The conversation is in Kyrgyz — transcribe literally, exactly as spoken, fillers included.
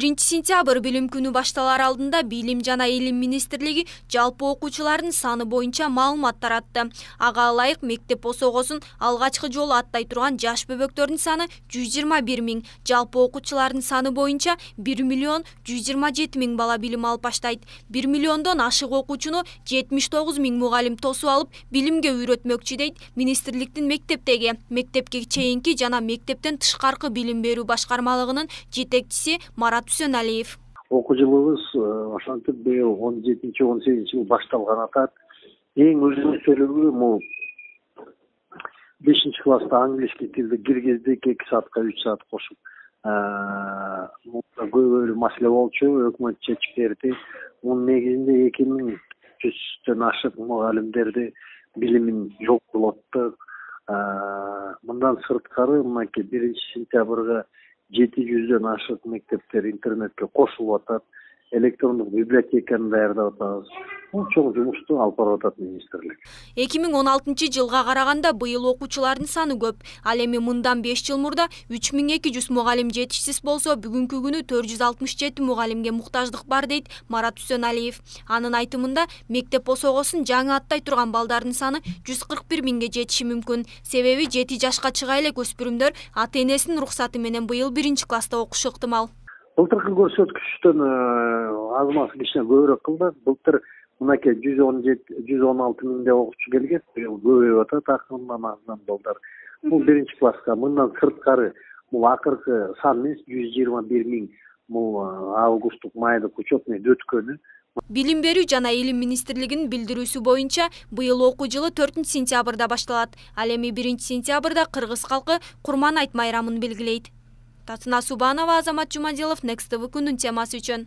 биринчи сентябрь билим күнү башталар алдында Билим жана Илим министрлиги жалпы окуучулардын саны боюнча маалымат таратты. Ага ылайык мектеп осогосун алгачкы жолу аттай турган жаш бөбөктөрдүн саны жүз жыйырма бир миң, жалпы окуучулардын саны боюнча бир миллион жүз жыйырма жети миң бала билим алып баштайт. бир миллиондон ашык окуучуну жетимиш тогуз миң мугалим тосуп алып билимге үйрөтмөкчү дейт министрликтин мектептеги, мектепке чейинки жана мектептен тышкаркы билим берүү башкармалыгынын жетекчиси Марат Үсөналиев. Окуу жылыбыз ошентип быйыл он жетинчи он сегизинчи жыл башталган атат. Эң өзүнчөлүгү бул бешинчи класста английский тилди киргиздик, эки саатка үч саат кошуп. Көбөлүү маселе болчу, өкмөт чечип берди. Мунун негизинде эки миң жүздөн ашык мугалимдерди билимин жоготуп. Мындан сырткары мынакей биринчи сентябрга жети жүздөн ашык мектептер интернетке кошулуп атат, электрондук библиотеканы даярдап атабыз. Бул чоң жумушту алып барып атат министрлик. эки миң он алтынчы жылга караганда быйыл окуучулардын саны көп. Ал эми мындан беш жыл мурда үч миң эки жүз мугалим жетишсиз болсо, бүгүнкү күнү төрт жүз алтымыш жети мугалимге муктаждык бар дейт Марат Үсөналиев. Анын айтымында, мектеп осогосун жаңы аттай турган балдардын саны жүз кырк бир миңге жетиши мүмкүн. Себеби жети жашка чыга элек өспүрүмдөр ата-энесинин уруксаты менен быйыл биринчи класста окушу ыктымал. Былтыркы көрсөткүчтөн азмасы кичине көбүрөөк кылды. Былтыр мынакей жүз он жети жүз он алты миңде окуучу келген, быйыл көбөйүп атат акырындан акырындан балдар. Бул биринчи класска. Мындан сырткары бул акыркы сан эмес, жүз жыйырма бир миң бул августтук майдык учетный өткөнү. Билим берүү жана Илим министрлигинин билдирүүсү боюнча, быйыл окуу жылы төртүнчү сентябрда башталат. Ал эми биринчи сентябрда кыргыз калкы Курман айт майрамын белгилейт. Татына Субанова, Азамат Жумадилов, Next тэ вэ күнүн темасы үчүн.